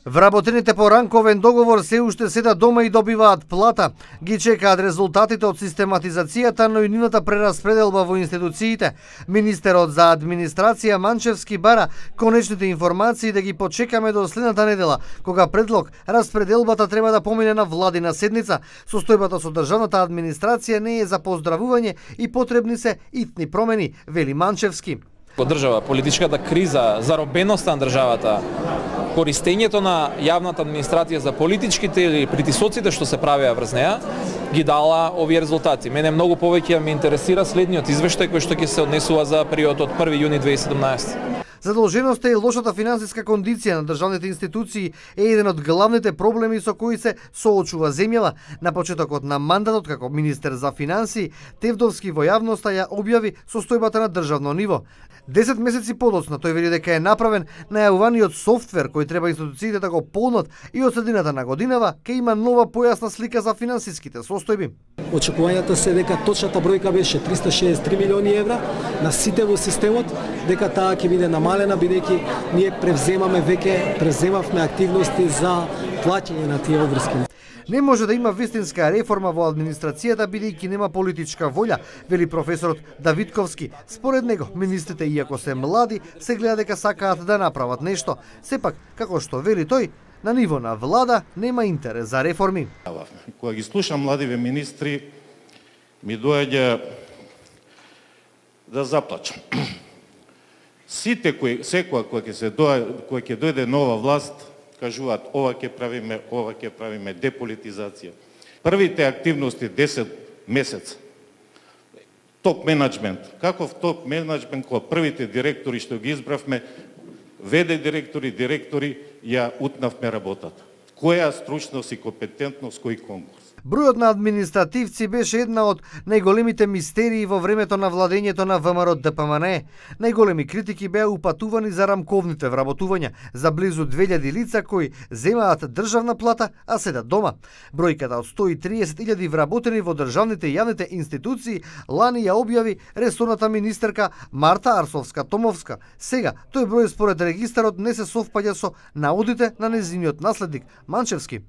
Вработените по ранковен договор се уште седат дома и добиваат плата. Ги чекаат резултатите од систематизацијата, но и нивната прераспределба во институциите. Министерот за администрација Манчевски бара конечните информации да ги почекаме до следната недела, кога предлог распределбата треба да помине на владина седница. Состојбата со државната администрација не е за поздравување и потребни се итни промени, вели Манчевски. Во држава, политичката криза, заробеноста на државата, користењето на јавната администрација за политичките или притисоците што се правеа врз неа, ги дала овие резултати. Мене многу повеќе ме интересира следниот извештај кој што ќе се однесува за периодот од 1 јуни 2017. Задолженоста и лошата финансиска кондиција на државните институции е еден од главните проблеми со кои се соочува земјава. На почетокот на мандатот како министер за финансии, Тевдовски во јавноста ја објави состојбата на државно ниво. 10 месеци подоцна тој вели дека е направен најавуваниот софтвер кој треба институциите да го полнат и од средината на годинава ќе има нова појасна слика за финансиските состојби. Очекувањата се дека точната бројка беше 363 милиони евра на сите во системот, дека таа ќе биде намалена бидејќи ние преземавме активности за плаќање на тие обврски. Не може да има вистинска реформа во администрацијата бидејќи нема политичка волја, вели професорот Давидковски. Според него, министрите, иако се млади, се гледа дека сакаат да направат нешто. Сепак, како што вели тој, на ниво на влада нема интерес за реформи. Кога ги слушам младиве министри, ми доаѓа да заплачам. Сите секоја која ќе дојде нова власт, кажуваат ова ќе правиме деполитизација. Првите активности 10 месеца. Топ менеджмент. Каков топ менеджмент кога првите директори што ги избравме, ВД директори ја утнавме работата. Која стручност и компетентност, кој конкурс? Бројот на административци беше една од најголемите мистерии во времето на владењето на ВМРО ДПМНЕ. Најголеми критики беа упатувани за рамковните вработувања, за близу 2000 лица кои земаат државна плата, а седат дома. Бројката од 130.000 вработени во државните и јавните институции лани ја објави ресорната министерка Марта Арсовска-Томовска. Сега, тој број според регистарот не се совпаѓа со наудите на нејзиниот наследник Манчевски.